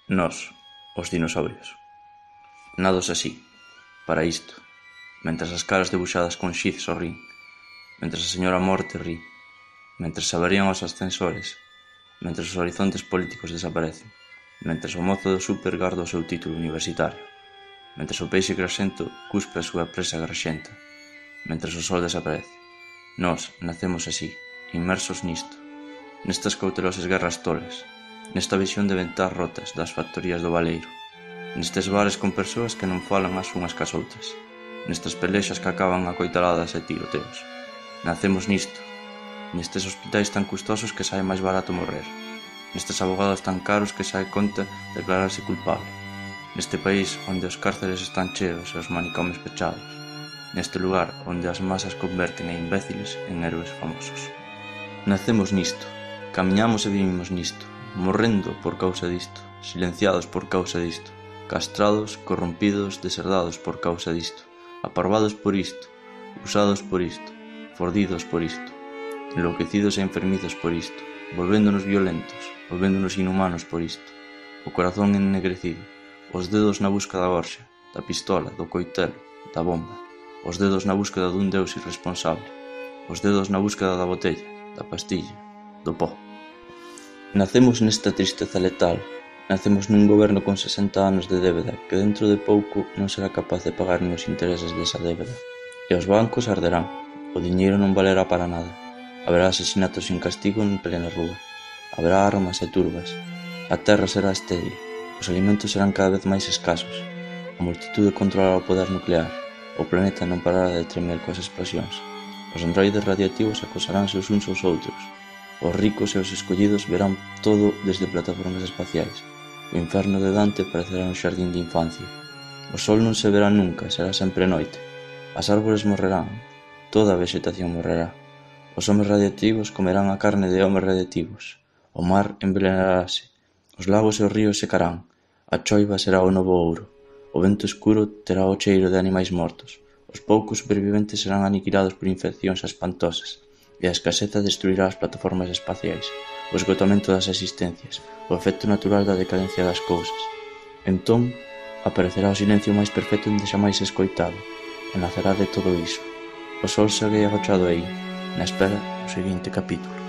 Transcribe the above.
Nós, os dinosaurios. Nados así, para isto, mentras as caras debuxadas con xiz sorrín, mentras a señora Morte rí, mentras se avarían os ascensores, mentras os horizontes políticos desaparecen, mentras o mozo do súper garda o seu título universitario, mentras o peixe grasento cuspe a súa presa grasenta, mentras o sol desaparece. Nós nacemos así, inmersos nisto, nestas cautelosas guerras tolas, nesta visión de ventás rotas das factorías do Baleiro, nestes bares con persoas que non falan as unhas cas outras, nestas pelexas que acaban a coitaladas e tiroteos. Nacemos nisto, nestes hospitais tan custosos que sae máis barato morrer, nestes abogados tan caros que sae conta declararse culpable, neste país onde os cárceres están cheos e os manicomes pechados, neste lugar onde as masas converten a imbéciles en héroes famosos. Nacemos nisto, camiñamos e vivimos nisto, morrendo por causa disto, silenciados por causa disto, castrados, corrompidos, deserdados por causa disto, aparvados por isto, usados por isto, fordidos por isto, enlouquecidos e enfermizos por isto, volvéndonos violentos, volvéndonos inhumanos por isto, o corazón ennegrecido, os dedos na busca da gorxa, da pistola, do coitelo, da bomba, os dedos na búsqueda dun deus irresponsable, os dedos na búsqueda da botella, da pastilla, do pó. Nacemos nesta tristeza letal, nacemos nun goberno con 60 anos de débeda que dentro de pouco non será capaz de pagar nin os intereses desa débeda. E os bancos arderán, o diñeiro non valerá para nada, haberá asesinatos sin castigo en plena rúa, haberá armas e turbas, a terra será estéril, os alimentos serán cada vez máis escasos, a multitude controlará o poder nuclear, o planeta non parará de tremer coas explosións, os androides radiactivos acosaránse os uns aos outros, os ricos e os escollidos verán todo desde plataformas espaciais. O inferno de Dante parecerá un xardín de infancia. O sol non se verá nunca, será sempre noite. As árbores morrerán, toda a vexetación morrerá. Os homes radiactivos comerán a carne de homes radiactivos. O mar envenenarase. Os lagos e os ríos secarán. A choiva será o novo ouro. O vento escuro terá o cheiro de animais mortos. Os poucos superviventes serán aniquilados por infeccións espantosas. E a escaseza destruirá as plataformas espaciais, o esgotamento das existencias, o efecto natural da decadencia das cousas. Entón, aparecerá o silencio máis perfecto onde xamais escoitado, e nacerá de todo iso. O sol segue agochado aí, na espera do seguinte capítulo.